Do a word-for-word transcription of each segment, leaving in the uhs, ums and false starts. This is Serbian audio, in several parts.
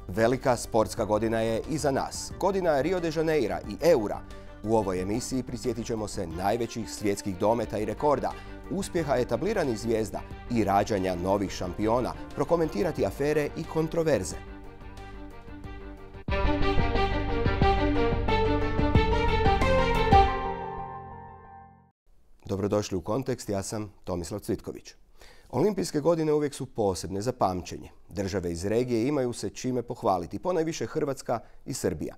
Velika sportska godina je iza nas. Godina Rio de Janeira i Eura. U ovoj emisiji prisjetit ćemo se najvećih svjetskih dometa i rekorda, uspjeha etabliranih zvijezda i rađanja novih šampiona, prokomentirati afere i kontroverze. Dobrodošli u Kontekst, ja sam Tomislav Cvitković. Olimpijske godine uvijek su posebne za pamćenje. Države iz regije imaju se čime pohvaliti, ponajviše Hrvatska i Srbija.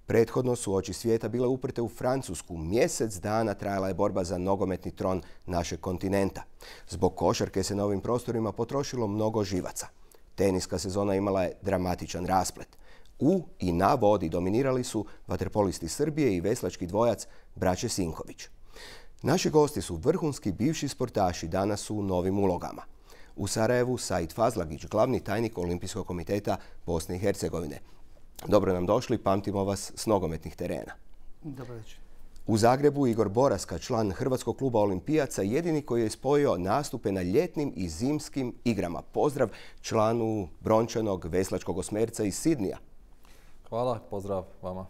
Prethodno su oči svijeta bile uprte u Francusku. Mjesec dana trajala je borba za nogometni tron našeg kontinenta. Zbog košarke se na ovim prostorima potrošilo mnogo živaca. Teniska sezona imala je dramatičan rasplet. U i na vodi dominirali su vaterpolisti Srbije i veslački dvojac braće Sinković. Naši gosti su vrhunski bivši sportaši, danas su u novim ulogama. U Sarajevu Said Fazlagić, glavni tajnik Olimpijskog komiteta Bosne i Hercegovine. Dobro nam došli, pamtimo vas s nogometnih terena. Dobro večer. U Zagrebu Igor Boraska, član Hrvatskog kluba olimpijaca, jedini koji je spojio nastupe na ljetnim i zimskim igrama. Pozdrav članu brončanog veslačkog osmerca iz Sidnija. Hvala, pozdrav vama.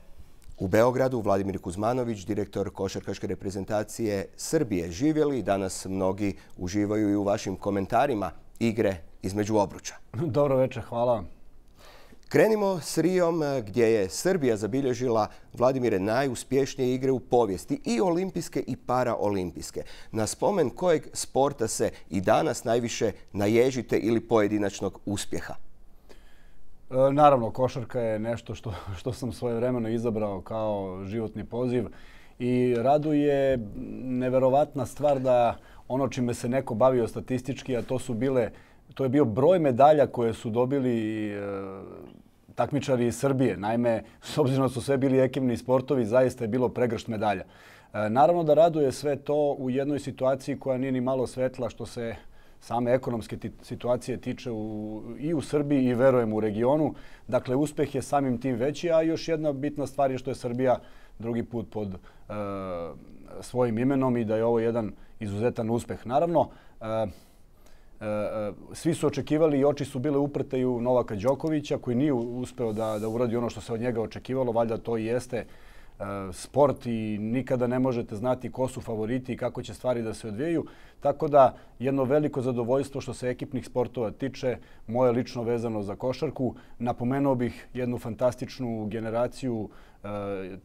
U Beogradu Vladimir Kuzmanović, direktor košarkaške reprezentacije Srbije. Živjeli, danas mnogi uživaju i u vašim komentarima igre između obruča. Dobro večer, hvala vam. Krenimo s Rijom gdje je Srbija zabilježila, Vladimire, najuspješnije igre u povijesti, i olimpijske i paraolimpijske. Na spomen kojeg sporta se i danas najviše naježite ili pojedinačnog uspjeha? Naravno, košarka je nešto što, što sam svojevremeno izabrao kao životni poziv i raduje neverovatna stvar da ono čime se neko bavio statistički, a to su bile, to je bio broj medalja koje su dobili e, takmičari iz Srbije. Naime, s obzirom da su sve bili ekipni sportovi, zaista je bilo pregršt medalja. E, naravno da raduje sve to u jednoj situaciji koja nije ni malo svetla što se same ekonomske situacije tiče u, i u Srbiji i verujem u regionu. Dakle, uspjeh je samim tim veći, a još jedna bitna stvar je što je Srbija drugi put pod e, svojim imenom i da je ovo jedan izuzetan uspjeh. Naravno, e, e, svi su očekivali i oči su bile uprte i u Novaka Đokovića koji nije uspeo da, da uradi ono što se od njega očekivalo. Valjda to i jeste sport i nikada ne možete znati ko su favoriti i kako će stvari da se odvijaju. Tako da jedno veliko zadovoljstvo što se ekipnih sportova tiče, moje lično vezano za košarku. Napomenuo bih jednu fantastičnu generaciju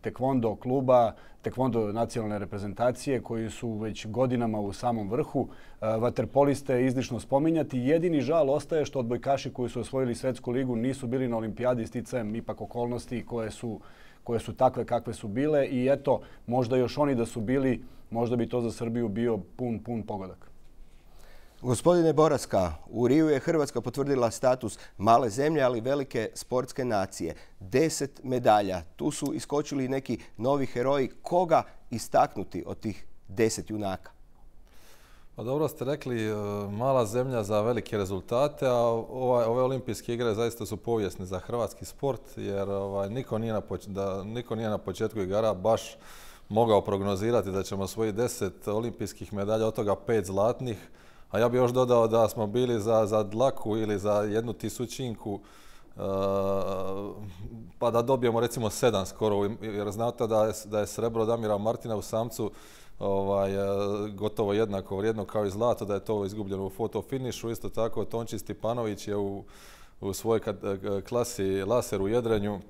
tekvondo kluba, tekvondo nacionalne reprezentacije koji su već godinama u samom vrhu. Vaterpoliste je izlišno spominjati. Jedini žal ostaje što odbojkaši koji su osvojili svetsku ligu nisu bili na olimpijadi sticajem ipak okolnosti koje su koje su takve kakve su bile i eto, možda još oni da su bili, možda bi to za Srbiju bio pun, pun pogodak. Gospodine Boraska, u Riju je Hrvatska potvrdila status male zemlje, ali velike sportske nacije. Deset medalja. Tu su iskočili neki novi heroji. Koga istaknuti od tih deset junaka? Pa dobro ste rekli, mala zemlja za velike rezultate, a ove, ove olimpijske igre zaista su povijesne za hrvatski sport, jer ovaj, niko, nije na poč da, niko nije na početku igara baš mogao prognozirati da ćemo osvojiti deset olimpijskih medalja, od toga pet zlatnih, a ja bih još dodao da smo bili za, za dlaku ili za jednu tisućinku, uh, pa da dobijemo recimo sedam skoro, jer znate da je, da je srebro Damira Martina u samcu Ovaj, gotovo jednako vrijedno kao i zlato, da je to izgubljeno u fotofinišu. Isto tako Tonči Stipanović je u, u svojoj klasi laser u jedrenju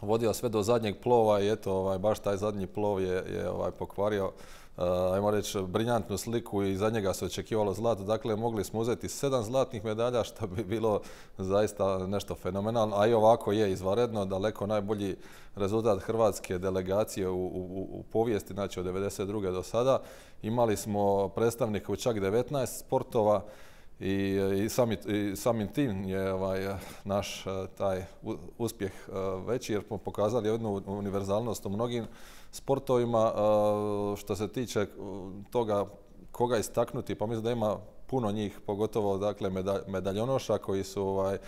vodio sve do zadnjeg plova i eto, ovaj, baš taj zadnji plov je, je ovaj, pokvario Uh, ajmo reći, briljantnu sliku i za njega se očekivalo zlato. Dakle, mogli smo uzeti sedam zlatnih medalja, što bi bilo zaista nešto fenomenalno. A i ovako je izvanredno, daleko najbolji rezultat hrvatske delegacije u, u, u povijesti, znači od devedeset druge do sada. Imali smo predstavnike u čak devetnaest sportova i, i, sami, i samim tim je ovaj, naš taj uspjeh veći, jer smo pokazali jednu univerzalnost u mnogim sportovima. Što se tiče toga koga istaknuti, pa mislim da ima puno njih, pogotovo dakle, medalj, medaljonoša koji su ovaj,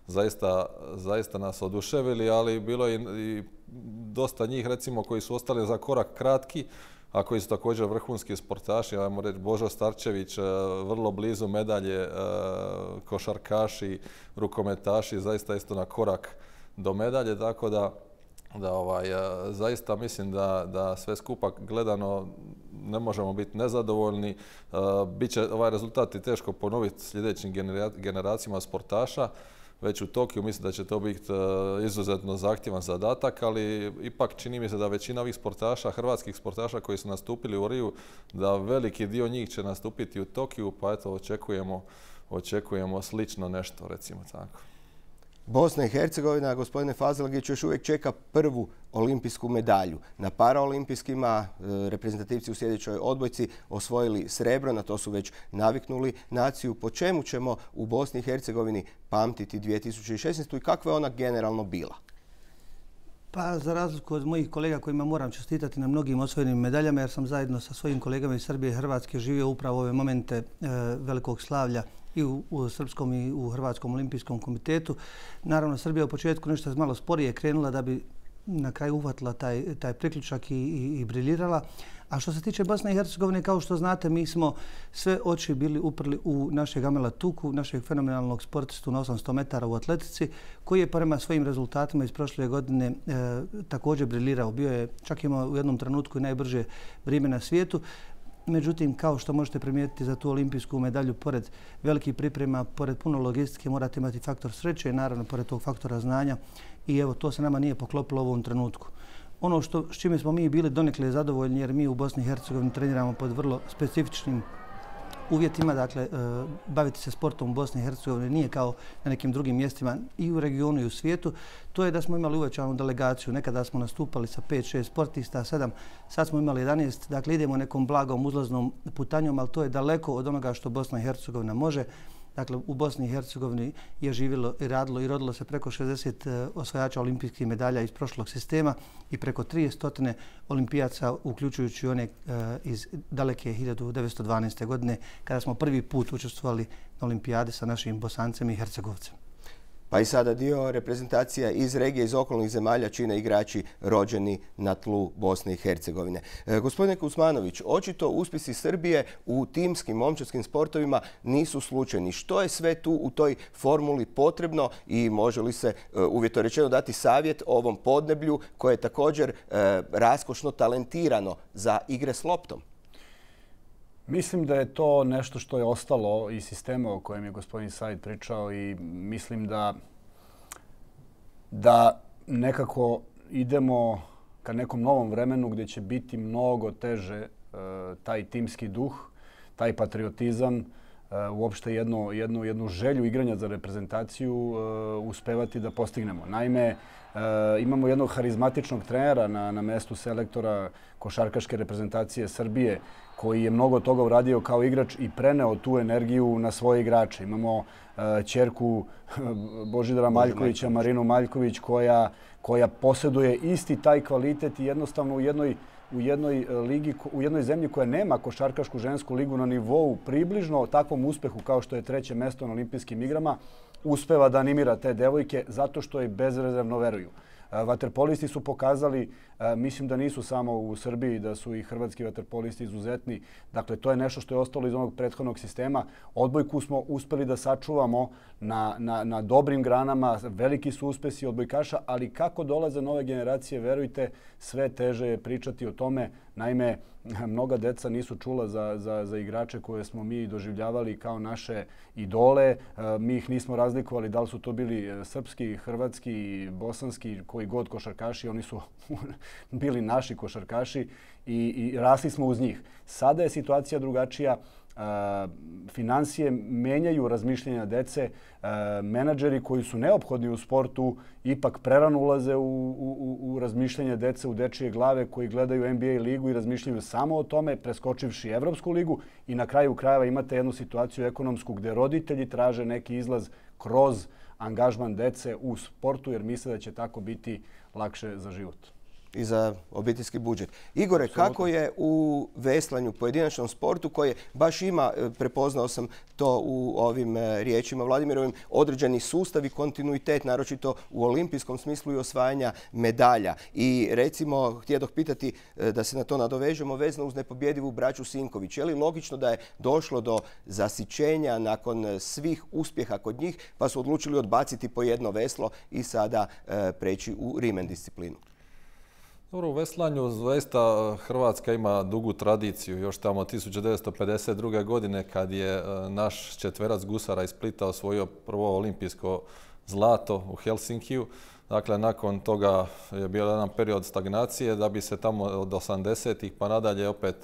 zaista, zaista nas oduševili, ali bilo je i, i dosta njih recimo koji su ostali za korak kratki, a koji su također vrhunski sportaši. Ajmo reći Božo Starčević, vrlo blizu medalje, košarkaši, rukometaši, zaista isto na korak do medalje, tako da da ovaj, zaista mislim da, da sve skupa gledano ne možemo biti nezadovoljni. Biće ovaj rezultat i teško ponoviti sljedećim generacijama sportaša. Već u Tokiju mislim da će to biti izuzetno zahtjevan zadatak, ali ipak čini mi se da većina ovih sportaša, hrvatskih sportaša koji su nastupili u Riju, da veliki dio njih će nastupiti u Tokiju, pa eto očekujemo, očekujemo slično nešto, recimo tako. Bosna i Hercegovina, gospodine Fazlagić, još uvijek čeka prvu olimpijsku medalju. Na paraolimpijskima reprezentativci u sljedećoj odbojci osvojili srebro, na to su već naviknuli naciju. Po čemu ćemo u Bosni i Hercegovini pamtiti dvije tisuće šesnaestu. i kakva je ona generalno bila? Pa za razliku od mojih kolega kojima moram čestitati na mnogim osvojenim medaljama, jer sam zajedno sa svojim kolegama iz Srbije i Hrvatske živio upravo ove momente velikog slavlja i u, u Srpskom i u Hrvatskom olimpijskom komitetu. Naravno, Srbija u početku nešto malo sporije krenula da bi na kraju uhvatila taj, taj priključak i, i, i briljirala. A što se tiče Bosne i Hercegovine, kao što znate, mi smo sve oči bili uprli u našeg Amela Tuku, našeg fenomenalnog sportistu na osamsto metara u atletici, koji je prema svojim rezultatima iz prošle godine e, također briljirao. Bio je čak imao u jednom trenutku i najbrže vrijeme na svijetu. Međutim, kao što možete primijetiti za tu olimpijsku medalju, pored velikih priprema, pored puno logistike, morate imati faktor sreće i naravno pored tog faktora znanja. I evo, to se nama nije poklopilo u ovom trenutku. Ono što, s čime smo mi bili donekle zadovoljni, jer mi u Bosni i Hercegovini treniramo pod vrlo specifičnim uvjetima. Dakle, baviti se sportom u Bosni i Hercegovini nije kao na nekim drugim mjestima i u regionu i u svijetu. To je da smo imali uvećanu delegaciju. Nekada smo nastupali sa pet šest sportista, sedam, sad smo imali jedanaest. Dakle, idemo nekom blagom uzlaznom putanjom, ali to je daleko od onoga što Bosna i Hercegovina može. Dakle, u Bosni i Hercegovini je živjelo i radilo i rodilo se preko šezdeset osvajača olimpijskih medalja iz prošlog sistema i preko trideset olimpijaca, uključujući one iz daleke hiljadu devetsto dvanaeste. godine, kada smo prvi put učestvovali na olimpijadi sa našim Bosancem i Hercegovcem. Pa i sada dio reprezentacija iz regije, iz okolnih zemalja čine igrači rođeni na tlu Bosne i Hercegovine. E, gospodine Kuzmanović, očito uspjesi Srbije u timskim momčadskim sportovima nisu slučajni. Što je sve tu u toj formuli potrebno i može li se e, uvjetno rečeno dati savjet ovom podneblju koje je također e, raskošno talentirano za igre s loptom? Mislim da je to nešto što je ostalo iz sistema o kojem je gospodin Said pričao i mislim da, da nekako idemo ka nekom novom vremenu gdje će biti mnogo teže e, taj timski duh, taj patriotizam, e, uopšte jednu, jednu, jednu želju igranja za reprezentaciju e, uspevati da postignemo. Naime, e, imamo jednog harizmatičnog trenera na, na mestu selektora košarkaške reprezentacije Srbije, koji je mnogo toga uradio kao igrač i preneo tu energiju na svoje igrače. Imamo ćerku Božidara Maljkovića, Marinu Maljković, koja, koja posjeduje isti taj kvalitet i jednostavno u jednoj, u jednoj ligi, u jednoj zemlji koja nema košarkašku žensku ligu na nivou približno takvom uspehu kao što je treće mesto na olimpijskim igrama, uspeva da animira te devojke zato što je bezrezervno veruju. Vaterpolisti su pokazali, mislim da nisu samo u Srbiji, da su i hrvatski vaterpolisti izuzetni. Dakle, to je nešto što je ostalo iz onog prethodnog sistema. Odbojku smo uspeli da sačuvamo na, na, na dobrim granama, veliki su uspesi odbojkaša, ali kako dolaze nove generacije, verujte, sve teže je pričati o tome. Naime, mnoga deca nisu čula za, za, za igrače koje smo mi doživljavali kao naše idole. Mi ih nismo razlikovali da li su to bili srpski, hrvatski, bosanski, koji god košarkaši. Oni su bili naši košarkaši i, i rasli smo uz njih. Sada je situacija drugačija. Finansije menjaju razmišljenja dece. Menadžeri koji su neophodni u sportu ipak prerano ulaze u, u, u razmišljanje dece u dečije glave koji gledaju N B A ligu i razmišljaju samo o tome, preskočivši Evropsku ligu i na kraju krajeva imate jednu situaciju ekonomsku gdje roditelji traže neki izlaz kroz angažman dece u sportu jer misle da će tako biti lakše za život. i za obiteljski budžet. Igore, kako je u veslanju, pojedinačnom sportu koji baš ima, prepoznao sam to u ovim riječima Vladimirovim, određeni sustav i kontinuitet, naročito u olimpijskom smislu i osvajanja medalja. I recimo, htjedoh pitati da se na to nadovežemo vezano uz nepobjedivu braću Sinković. Je li logično da je došlo do zasićenja nakon svih uspjeha kod njih, pa su odlučili odbaciti po jedno veslo i sada e, preći u rimen disciplinu? Dobro, u veslanju zaista Hrvatska ima dugu tradiciju. Još tamo tisuću devetsto pedeset druge. godine kad je naš četverac gusara iz Splita osvojio prvo olimpijsko zlato u Helsinkiju. Dakle, nakon toga je bio jedan period stagnacije da bi se tamo od osamdesetih pa nadalje opet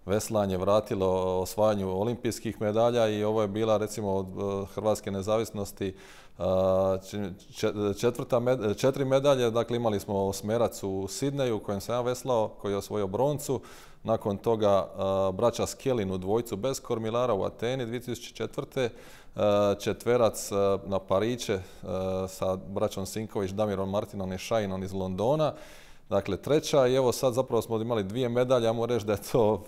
veslanje vratilo osvajanju olimpijskih medalja i ovo je bila recimo od hrvatske nezavisnosti četvrta med, četiri medalje. Dakle, imali smo osmerac u Sidneju u kojem sam ja veslao, koji je osvojio broncu. Nakon toga braća Skelin u dvojcu bez kormilara u Ateni dvije tisuće četvrte. Četverac na Pariće sa braćom Sinković, Damirom Martinom i Šajinom iz Londona. Dakle, treća i evo sad zapravo smo imali dvije medalje, ja moram reći da je to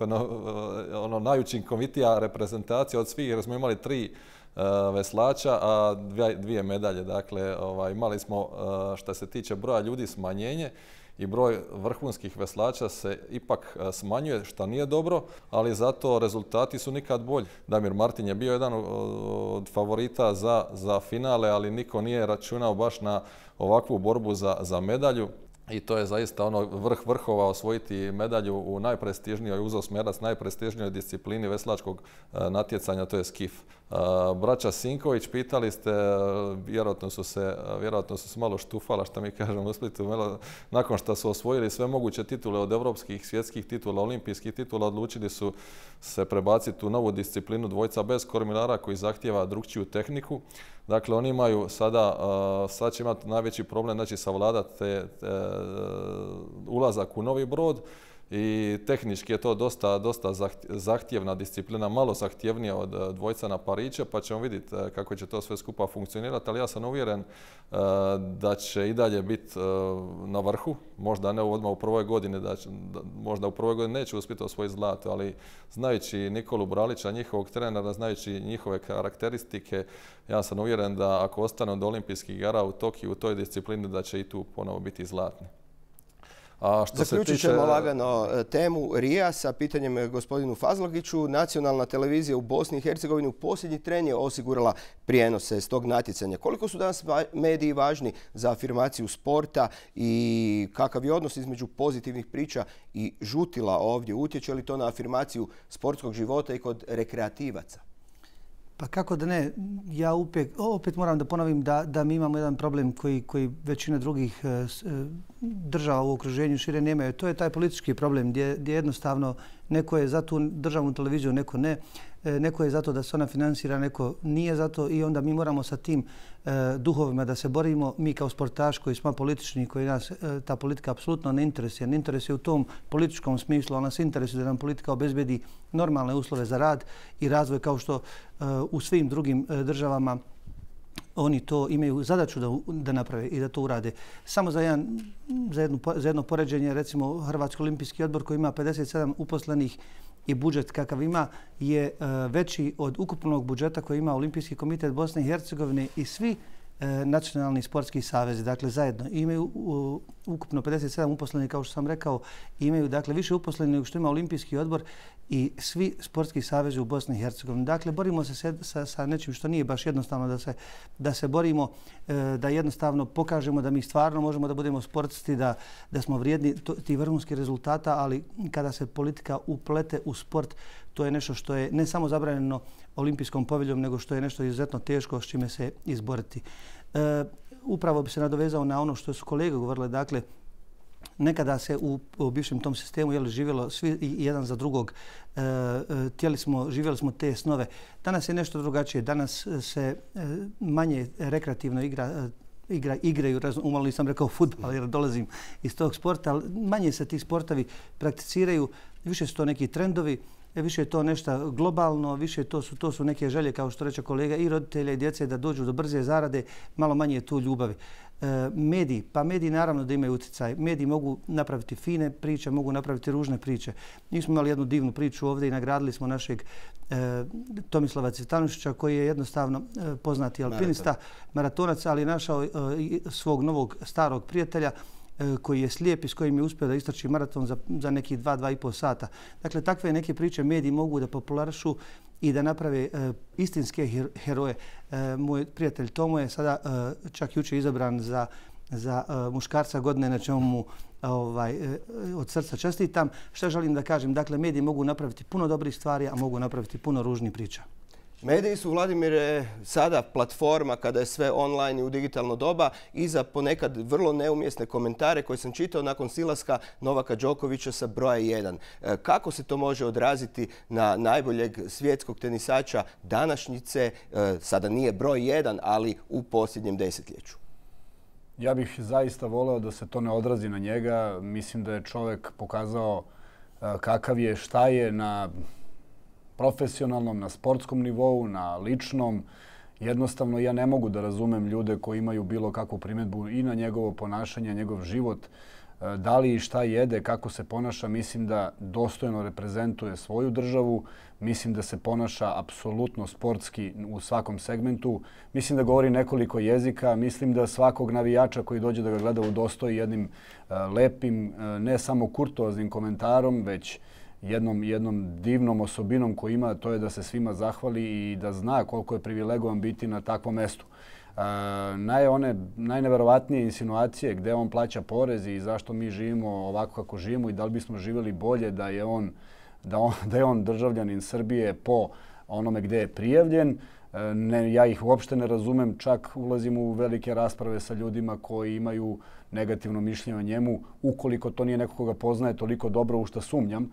ono, najučinkovitija reprezentacija od svih jer smo imali tri uh, veslača, a dvije, dvije medalje. Dakle, ovaj, imali smo uh, što se tiče broja ljudi smanjenje i broj vrhunskih veslača se ipak smanjuje, što nije dobro, ali zato rezultati su nikad bolji. Damir Martin je bio jedan od favorita za, za finale, ali niko nije računao baš na ovakvu borbu za, za medalju. I to je zaista ono vrh vrhova osvojiti medalju u najprestižnijoj, uz osmerac, najprestižnijoj disciplini veslačkog natjecanja, to je skif. Braća Sinković, pitali ste, vjerojatno su se, vjerojatno su se malo štufala, što mi kažemo u Splitu, nakon što su osvojili sve moguće titule od evropskih, svjetskih titula, olimpijskih titula, odlučili su se prebaciti u novu disciplinu dvojca bez kormilara koji zahtijeva drukčiju tehniku. Dakle, oni imaju sada, sad će imati najveći problem, znači savladati te, te, ulazak u novi brod i tehnički je to dosta, dosta zahtjevna disciplina, malo zahtjevnija od dvojca na Pariće, pa ćemo vidjeti kako će to sve skupa funkcionirati, ali ja sam uvjeren da će i dalje biti na vrhu, možda ne odmah u prvoj godini, da će, da, možda u prvoj godini neće uspjeti osvojiti zlato, ali znajući Nikolu Bralića, njihovog trenera, znajući njihove karakteristike, ja sam uvjeren da ako ostane od olimpijskih igara u Tokiju u toj disciplini, da će i tu ponovo biti zlatni. A što Zaključit se tiče... ćemo lagano temu Rija sa pitanjem gospodinu Fazlagiću. Nacionalna televizija u Bosni i Hercegovini u posljednji tren je osigurala prijenose s tog natjecanja. Koliko su danas mediji važni za afirmaciju sporta i kakav je odnos između pozitivnih priča i žutila ovdje? Utječe li to na afirmaciju sportskog života i kod rekreativaca? Pa kako da ne, ja opet, opet moram da ponovim da, da mi imamo jedan problem koji, koji većina drugih e, država u okruženju šire nemaju. To je taj politički problem gdje, gdje jednostavno neko je za tu državnu televiziju, neko ne. E, neko je zato da se ona finansira, neko nije zato i onda mi moramo sa tim e, duhovima da se borimo. Mi kao sportaš koji smo politični, koji nas e, ta politika apsolutno ne interesuje. Ne interesuje u tom političkom smislu, ali nas interesuje da nam politika obezbedi normalne uslove za rad i razvoj kao što e, u svim drugim e, državama oni to imaju zadaću da, da naprave i da to urade. Samo za, jedan, za, jednu, za jedno poređenje, recimo Hrvatski olimpijski odbor koji ima pedeset sedam uposlenih i budžet kakav ima je uh, veći od ukupnog budžeta koji ima Olimpijski komitet Bosne i Hercegovine i svi uh, nacionalni sportski savezi. Dakle, zajedno imaju uh, ukupno pedeset sedam uposlenih, kao što sam rekao, imaju dakle više uposlenih nego što ima Olimpijski odbor i svi sportski savezi u Bosni i Hercegovini. Dakle, borimo se sa, sa nečim što nije baš jednostavno da se, da se borimo, da jednostavno pokažemo da mi stvarno možemo da budemo sportisti, da, da smo vrijedni tih vrhunskih rezultata, ali kada se politika uplete u sport, to je nešto što je ne samo zabranjeno olimpijskom poveljom, nego što je nešto izuzetno teško s čime se izboriti. E, upravo bi se nadovezao na ono što su kolege govorile, dakle, nekada se u, u bivšem tom sistemu jeli, živjelo svi jedan za drugog. E, tijeli smo, živjeli smo te snove. Danas je nešto drugačije. Danas se manje rekreativno igra, igra, igraju, umalo nisam rekao fudbal jer dolazim iz tog sporta, ali manje se ti sportovi prakticiraju. Više su to neki trendovi, više je to nešto globalno, više to su, to su neke želje, kao što reče kolega, i roditelja i djece da dođu do brze zarade, malo manje je tu ljubavi. Mediji, pa mediji naravno da imaju utjecaj. Mediji mogu napraviti fine priče, mogu napraviti ružne priče. Mi smo imali jednu divnu priču ovdje i nagradili smo našeg Tomislava Cvitanušića koji je jednostavno poznati alpinista, maratonac, ali našao svog novog starog prijatelja koji je slijep i s kojim je uspio da istrči maraton za, za nekih dva, dva i pol sata. Dakle, takve neke priče mediji mogu da popularišu i da naprave e, istinske heroje. E, moj prijatelj Tomo je sada e, čak jučer izabran za, za e, muškarca godine, na čemu mu ovaj, e, od srca čestitam. Šta želim da kažem? Dakle, mediji mogu napraviti puno dobrih stvari, a mogu napraviti puno ružnih priča. Mediji su, Vladimire, sada platforma kada je sve online i u digitalno doba i za ponekad vrlo neumjesne komentare koje sam čitao nakon silaska Novaka Đokovića sa broja jedan. Kako se to može odraziti na najboljeg svjetskog tenisača današnjice? Sada nije broj jedan, ali u posljednjem desetljeću. Ja bih zaista voleo da se to ne odrazi na njega. Mislim da je čovjek pokazao kakav je, šta je na profesionalnom, na sportskom nivou, na ličnom. Jednostavno, ja ne mogu da razumem ljude koji imaju bilo kakvu primjedbu i na njegovo ponašanje, njegov život, da li i šta jede, kako se ponaša. Mislim da dostojno reprezentuje svoju državu. Mislim da se ponaša apsolutno sportski u svakom segmentu. Mislim da govori nekoliko jezika. Mislim da svakog navijača koji dođe da ga gleda udostoji jednim lepim, ne samo kurtoaznim komentarom, već jednom, jednom divnom osobinom koju ima, to je da se svima zahvali i da zna koliko je privilegovan biti na takvom mestu. E, naj, one najneverovatnije insinuacije gdje on plaća porez i zašto mi živimo ovako kako živimo i da li bismo živjeli bolje da je on, da on, da je on državljanin Srbije po onome gdje je prijavljen. E, ne, ja ih uopšte ne razumem, čak ulazim u velike rasprave sa ljudima koji imaju negativno mišljenje o njemu. Ukoliko to nije neko koga poznaje toliko dobro, u što sumnjam,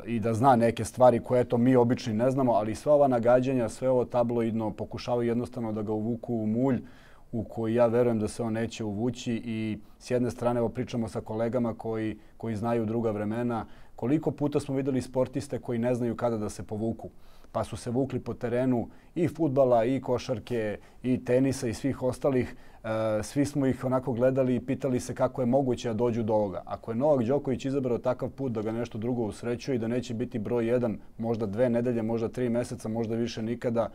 i da zna neke stvari koje eto mi obični ne znamo, ali sva ova nagađanja, sve ovo tabloidno pokušavaju jednostavno da ga uvuku u mulj u koji ja verujem da se on neće uvući. I s jedne strane, evo pričamo sa kolegama koji, koji znaju druga vremena, koliko puta smo vidjeli sportiste koji ne znaju kada da se povuku. Pa su se vukli po terenu i fudbala, i košarke, i tenisa i svih ostalih. E, svi smo ih onako gledali i pitali se kako je moguće da dođu do ovoga. Ako je Novak Đoković izabrao takav put da ga nešto drugo usrećuje i da neće biti broj jedan, možda dve nedelje, možda tri mjeseca, možda više nikada,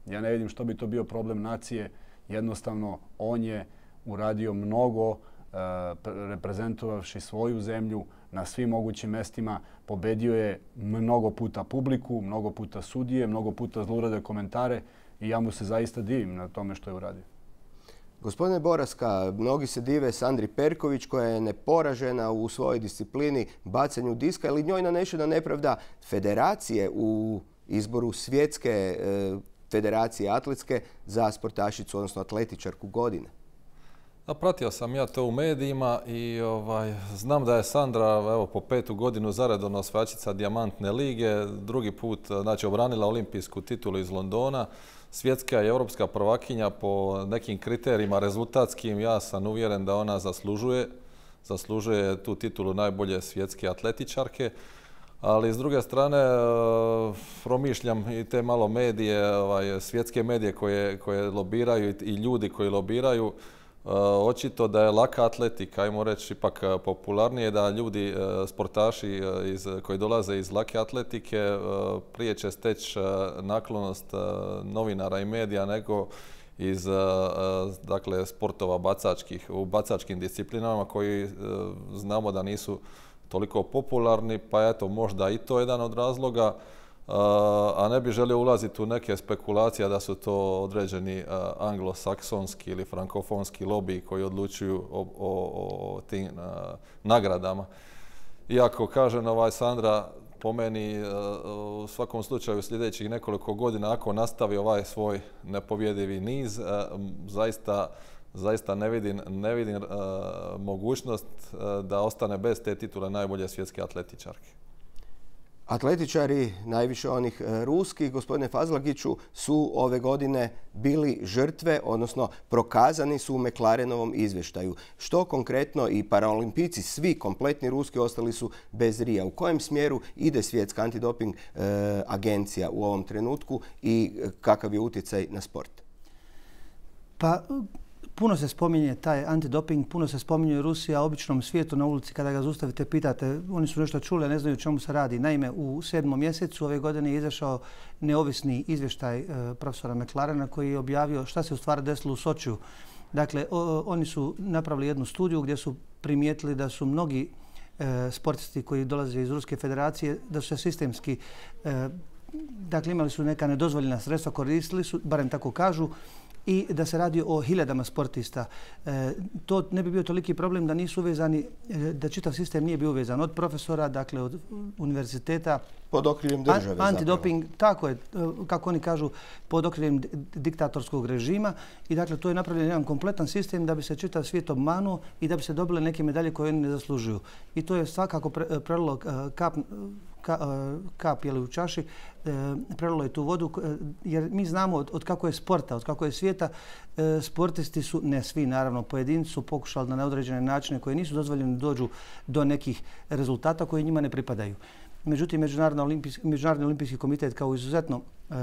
ja ne vidim što bi to bio problem nacije. Jednostavno, on je uradio mnogo, e, reprezentovavši svoju zemlju na svim mogućim mestima. Pobedio je mnogo puta publiku, mnogo puta sudije, mnogo puta zlurade komentare i ja mu se zaista divim na tome što je uradio. Gospodine Boraska, mnogi se dive Sandri Perković koja je neporažena u svojoj disciplini bacanju diska, ali njoj nanešena nepravda federacije u izboru svjetske e, federacije atletske za sportašicu, odnosno atletičarku godine. A pratio sam ja to u medijima i ovaj, znam da je Sandra evo, po petu godinu zaredovno osvajačica Dijamantne lige, drugi put znači, obranila olimpijsku titulu iz Londona, svjetska i europska prvakinja po nekim kriterijima rezultatskim. Ja sam uvjeren da ona zaslužuje, zaslužuje tu titulu najbolje svjetske atletičarke. Ali s druge strane promišljam i te malo medije, ovaj, svjetske medije koje, koje lobiraju i ljudi koji lobiraju. Očito da je laka atletika, ajmo reći, ipak popularnije, da ljudi, sportaši iz, koji dolaze iz lake atletike prije će steći naklonost novinara i medija nego iz dakle, sportova bacačkih, u bacačkim disciplinama koji znamo da nisu toliko popularni, pa eto možda i to je jedan od razloga. A ne bi želio ulaziti u neke spekulacije da su to određeni anglosaksonski ili frankofonski lobiji koji odlučuju o, o, o tim nagradama. Iako, kažem, ovaj Sandra, po meni u svakom slučaju sljedećih nekoliko godina, ako nastavi ovaj svoj nepobjedivi niz, zaista, zaista ne vidim, ne vidim mogućnost da ostane bez te titule najbolje svjetske atletičarke. Atletičari, najviše onih ruskih, gospodine Fazlagiću, su ove godine bili žrtve, odnosno prokazani su u McLarenovom izvještaju. Što konkretno i paraolimpijci, svi kompletni ruski, ostali su bez rija. U kojem smjeru ide svjetska antidoping e, agencija u ovom trenutku i kakav je utjecaj na sport? Pa, puno se spominje taj antidoping, puno se spominje Rusija, običnom svijetu na ulici kada ga zaustavite, pitate, oni su nešto čuli, ne znaju o čemu se radi. Naime, u sedmom mjesecu ove godine je izašao neovisni izvještaj profesora McLarena koji je objavio šta se u stvari desilo u Sočiju. Dakle, o, oni su napravili jednu studiju gdje su primijetili da su mnogi e, sportisti koji dolaze iz Ruske federacije, da su se sistemski, e, dakle imali su neka nedozvoljena sredstva, koristili su, barem tako kažu, i da se radi o hiljadama sportista. E, to ne bi bio toliki problem da nisu uvezani, da čitav sistem nije bio uvezan od profesora, dakle od univerziteta. Pod okriljem države An, antidoping, zapravo. Tako je, kako oni kažu, pod okriljem diktatorskog režima. I dakle, to je napravljen jedan kompletan sistem da bi se čitav svijet obmanuo i da bi se dobile neke medalje koje oni ne zaslužuju. I to je svakako pre, prelilo kap, ka, kap jeli, u čaši, prelilo je tu vodu, jer mi znamo od, od kako je sporta, od kako je svijeta, sportisti su, ne svi naravno, pojedinci su pokušali na neodređene načine koje nisu dozvoljeni dođu do nekih rezultata koji njima ne pripadaju. Međutim, Međunarodni olimpijski, Međunarodni olimpijski komitet kao izuzetno e,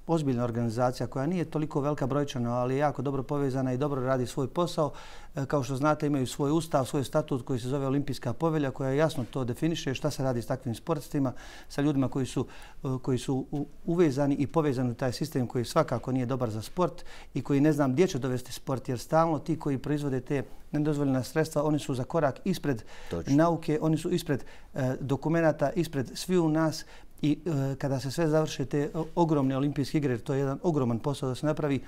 ozbiljna organizacija koja nije toliko velika brojčano, ali je jako dobro povezana i dobro radi svoj posao. E, kao što znate, imaju svoj ustav, svoj statut koji se zove Olimpijska povelja koja jasno to definiše šta se radi s takvim sportistima, sa ljudima koji su, e, koji su uvezani i povezani u taj sistem koji svakako nije dobar za sport i koji ne znam gdje će dovesti sport, jer stalno ti koji proizvode te nedozvoljena sredstva, oni su za korak ispred Točno. nauke, oni su ispred e, dokumenata, ispred svi u nas i e, kada se sve završe te ogromne olimpijske igre, to je jedan ogroman posao da se napravi,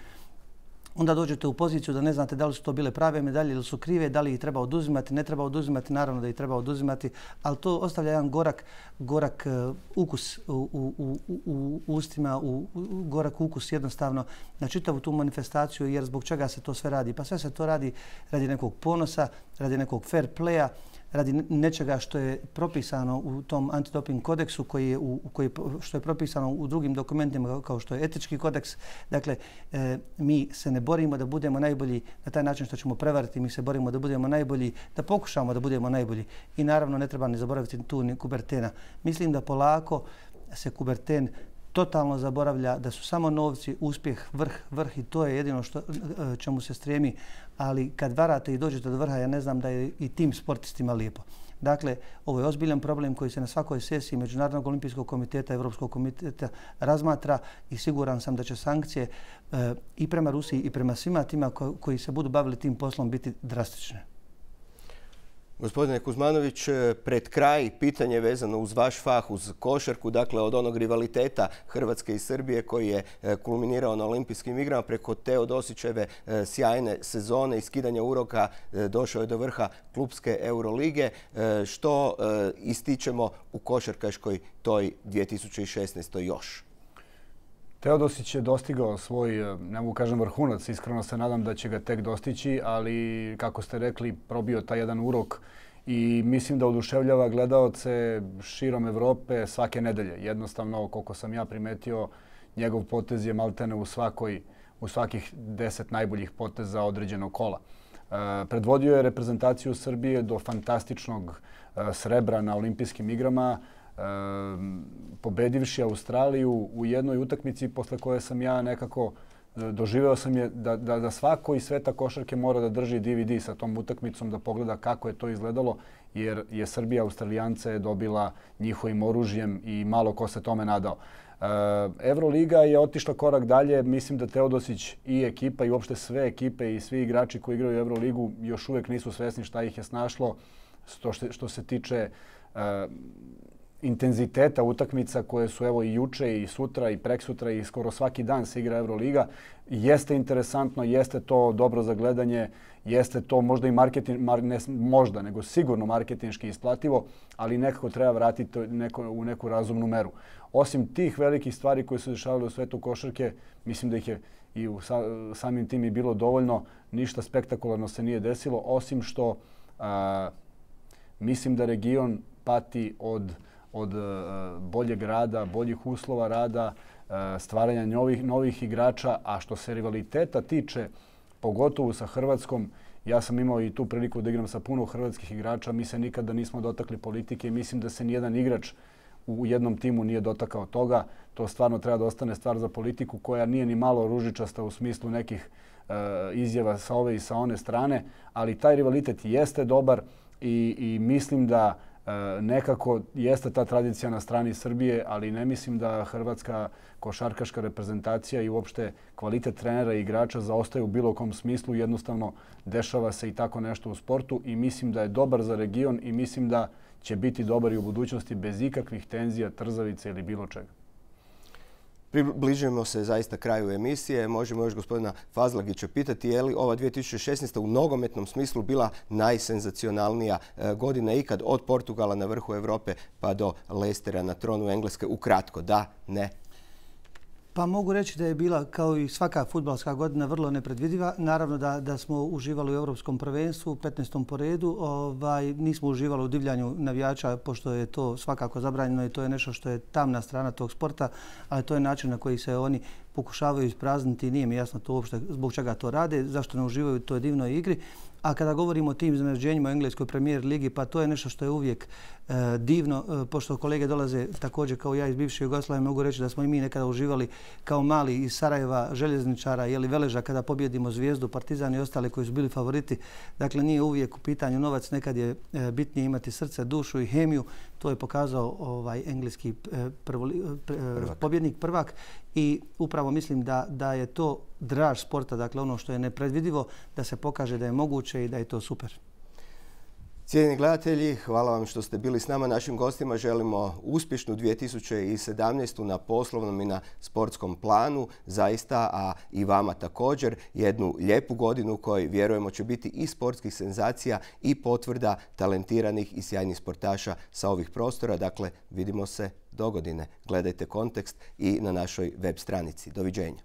onda dođete u poziciju da ne znate da li su to bile prave medalje ili su krive, da li ih treba oduzimati, ne treba oduzimati, naravno da ih treba oduzimati, ali to ostavlja jedan gorak, gorak uh, ukus u, u, u, u ustima, u, u, gorak ukus jednostavno na čitavu tu manifestaciju, jer zbog čega se to sve radi? Pa sve se to radi radi nekog ponosa, radi nekog fair playa, radi nečega što je propisano u tom antidoping kodeksu koji je u, koji, što je propisano u drugim dokumentima kao što je etički kodeks. Dakle, e, mi se ne borimo da budemo najbolji na taj način što ćemo prevariti, mi se borimo da budemo najbolji, da pokušamo da budemo najbolji. I naravno ne treba ni zaboraviti tu ni Kubertena. Mislim da polako se Kuberten totalno zaboravlja, da su samo novci, uspjeh, vrh, vrh i to je jedino što, čemu se stremi. Ali kad varate i dođete do vrha, ja ne znam da je i tim sportistima lijepo. Dakle, ovo je ozbiljan problem koji se na svakoj sesiji Međunarodnog olimpijskog komiteta, Evropskog komiteta razmatra i siguran sam da će sankcije e, i prema Rusiji i prema svima tima ko, koji se budu bavili tim poslom biti drastične. Gospodine Kuzmanović, pred kraj pitanje vezano uz vaš fah, uz košarku, dakle od onog rivaliteta Hrvatske i Srbije koji je kulminirao na olimpijskim igrama preko Teodosićeve sjajne sezone i skidanja uroka došao je do vrha klupske Eurolige. Što ističemo u košarkaškoj toj dvije tisuće šesnaestoj još? Teodosić je dostigao svoj, ne mogu kažem vrhunac, iskreno se nadam da će ga tek dostići, ali kako ste rekli, probio taj jedan urok i mislim da oduševljava gledaoce širom Evrope svake nedelje. Jednostavno, koliko sam ja primetio, njegov potez je maltene u, svakoj, u svakih deset najboljih poteza određenog kola. E, predvodio je reprezentaciju Srbije do fantastičnog e, srebra na olimpijskim igrama, pobedivši Australiju u jednoj utakmici posle koje sam ja nekako doživeo sam je da, da, da svako iz sveta košarke mora da drži D V D sa tom utakmicom da pogleda kako je to izgledalo, jer je Srbija Australijance dobila njihovim oružjem i malo ko se tome nadao. Evroliga je otišla korak dalje. Mislim da Teodosić i ekipa i uopšte sve ekipe i svi igrači koji igraju Evroligu još uvijek nisu svesni šta ih je snašlo što, što se tiče uh, intenziteta utakmica koje su evo i juče i sutra i preksutra i skoro svaki dan se igra Evroliga. Jeste interesantno, jeste to dobro za gledanje, jeste to možda i marketing, mar, ne možda, nego sigurno marketinški isplativo, ali nekako treba vratiti neko, u neku razumnu meru. Osim tih velikih stvari koje su dešavale u svetu košarke, mislim da ih je i u sa, samim tim i bilo dovoljno, ništa spektakularno se nije desilo, osim što a, mislim da region pati od od boljeg rada, boljih uslova rada, stvaranja novih, novih igrača, a što se rivaliteta tiče, pogotovo sa Hrvatskom, ja sam imao i tu priliku da igram sa puno hrvatskih igrača, mi se nikada nismo dotakli politike i mislim da se nijedan igrač u jednom timu nije dotakao toga. To stvarno treba da ostane stvar za politiku koja nije ni malo ružičasta u smislu nekih izjava sa ove i sa one strane, ali taj rivalitet jeste dobar i, i mislim da nekako jeste ta tradicija na strani Srbije, ali ne mislim da hrvatska košarkaška reprezentacija i uopšte kvalitet trenera i igrača zaostaju u bilo kom smislu. Jednostavno dešava se i tako nešto u sportu i mislim da je dobar za region i mislim da će biti dobar i u budućnosti bez ikakvih tenzija, trzavica ili bilo čega. Približujemo se zaista kraju emisije. Možemo još gospodina Fazlagića pitati je li ova dvije tisuće šesnaesta. u nogometnom smislu bila najsenzacionalnija godina ikad od Portugala na vrhu Europe pa do Leicestera na tronu Engleske. Ukratko, da, ne? Pa mogu reći da je bila, kao i svaka fudbalska godina, vrlo nepredvidiva. Naravno da, da smo uživali u Europskom prvenstvu, petnaestom po redu. Ovaj, nismo uživali u divljanju navijača, pošto je to svakako zabranjeno i to je nešto što je tamna strana tog sporta, ali to je način na koji se oni pokušavaju isprazniti i nije mi jasno to uopšte zbog čega to rade, zašto ne uživaju u toj divnoj igri. A kada govorimo o tim iznenađenjima u engleskoj premijer ligi, pa to je nešto što je uvijek e, divno. E, pošto kolege dolaze također kao ja iz bivše Jugoslavije, mogu reći da smo i mi nekada uživali kao mali iz Sarajeva, Željezničara ili Veleža kada pobjedimo Zvijezdu, Partizan i ostale koji su bili favoriti. Dakle, nije uvijek u pitanju novac, nekad je e, bitnije imati srce, dušu i hemiju. To je pokazao ovaj engleski e, prvo, e, prvak. pobjednik prvak i upravo mislim da, da je to draž sporta, dakle ono što je nepredvidivo, da se pokaže da je moguće i da je to super. Cijenjeni gledatelji, hvala vam što ste bili s nama. Našim gostima želimo uspješnu dvije tisuće sedamnaestu. na poslovnom i na sportskom planu, zaista, a i vama također. Jednu lijepu godinu koju vjerujemo će biti i sportskih senzacija i potvrda talentiranih i sjajnih sportaša sa ovih prostora. Dakle, vidimo se dogodine. Gledajte Kontekst i na našoj web stranici. Doviđenja.